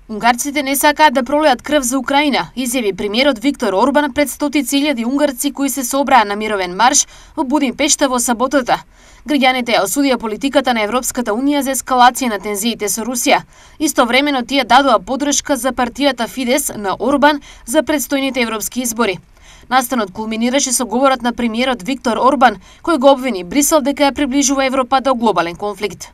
Унгарците не сакаат да пролеат крв за Украина, изјави премиерот Виктор Орбан пред стотици илјади унгарци кои се собраа на мировен марш во Будимпешта во саботата. Граѓаните ја осудија политиката на Европската унија за ескалација на тензиите со Русија. Истовремено тие дадоа поддршка за партијата Фидес на Орбан за предстојните европски избори. Настанот кулминираше со говорот на премиерот Виктор Орбан, кој го обвини Брисел дека ја приближува Европа до глобален конфликт.